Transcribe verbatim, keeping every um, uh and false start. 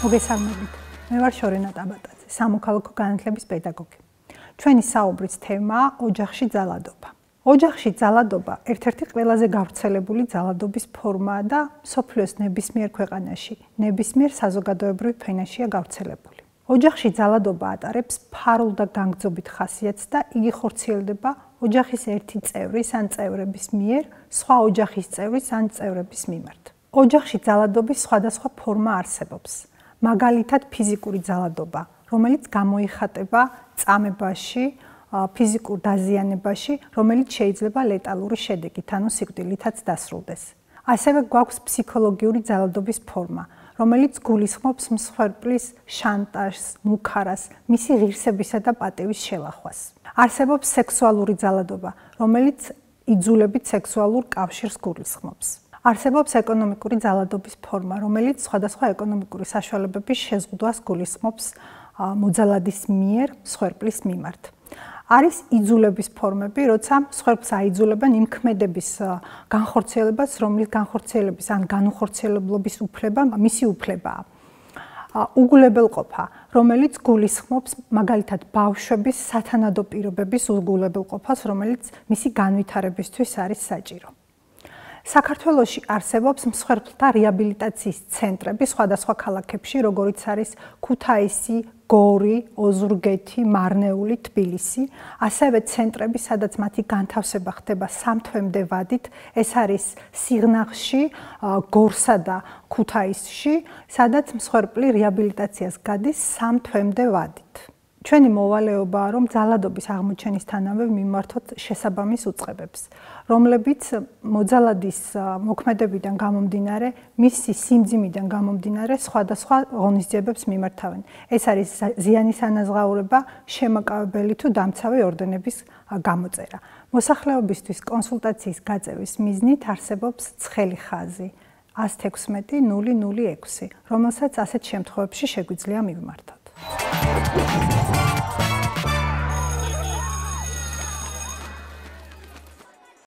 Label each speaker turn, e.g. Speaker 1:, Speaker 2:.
Speaker 1: მოგესალმებით. მე ვარ შორენა ტაბატაძე, სამოქალაქო განათლების პედაგოგი. ჩვენი საუბრის თემაა ოჯახში ძალადობა. ოჯახში ძალადობა ერთ-ერთი ყველაზე გავრცელებული ძალადობის ფორმაა და მსოფლიოს ნებისმიერ ქვეყანაში, ნებისმიერ საზოგადოებრივ ფენაშია გავრცელებული. ოჯახში ძალადობა ატარებს ფარულ და განგრძობით ხასიათს და იგი ხორციელდება ოჯახის ერთი წევრის ან წევრების მიერ, სხვა ოჯახის წევრის ან წევრების მიმართ. ოჯახში ძალადობის სხვადასხვა ფორმა არსებობს. მაგალითად, ფიზიკური ძალადობა, რომელიც გამოიხატება წამებაში, ფიზიკურ დაზიანებაში, რომელიც შეიძლება ლეტალური შედეგით, ანუ სიკვდილითაც დასრულდეს. ასევე გვაქვს ფსიქოლოგიური ძალადობის ფორმა, რომელიც გულისხმობს მსხვერპლის შანტაჟს, მუქარას, მისი ღირსებისა და პატივის შელახვას. არსებობს სექსუალური ძალადობა, რომელიც იძულებით სექსუალურ კავშირს გულისხმობს. არსებობს ეკონომიკური ძალადობის ფორმა, რომელიც სხვადასხვა ეკონომიკური საშუალებების შეზღუდვას გულისხმობს მოძალადის მიერ მსხვერპლის მიმართ. არის იძულების ფორმები, როცა მსხვერპლს აიძულებენ იმ ქმედების განხორციელებას, რომლის განხორციელების ან განუხორციელებლობის უფლება მისი უფლებაა. უგულებელყოფა, რომელიც გულისხმობს მაგალითად ბავშვების სათანადო პირობების უგულებელყოფას, რომელიც მისი განვითარებისთვის არის საჭირო. საქართველოში არსებობს მსხვერპლთა რეაბილიტაციის ცენტრები სხვადასხვა ქალაქებში, როგორიც არის ქუთაისი, გორი, ოზურგეთი, მარნეული, თბილისი, ასევე ცენტრები, სადაც მათი განთავსება ხდება სამ თვემდე ვადით, ეს არის სიღნაღში, გორსა და ქუთაისში, სადაც მსხვერპლი რეაბილიტაციას გადის სამ თვემდე ვადით. ჩვენი მოვალეობაა, რომ ძალადობის აღმოჩენისთანავე მიმართოთ შესაბამის უწყებებს, რომლებიც მოძალადის მოქმედებიდან გამომდინარე, მისი სიმძიმიდან გამომდინარე სხვადასხვა ღონისძიებებს მიმართავენ. ეს არის ზიანის ანაზღაურება, შემაკავებელი თუ დამცავი ორდენების გამოწერა. მოსახლეობისთვის კონსულტაციის გაწევის მიზნით არსებობს ცხელი ხაზი ათს თექვსმეტი ნული ნული ექვსი, რომელსაც ასეთ შემთხვევებში შეგვიძლია მივმართოთ.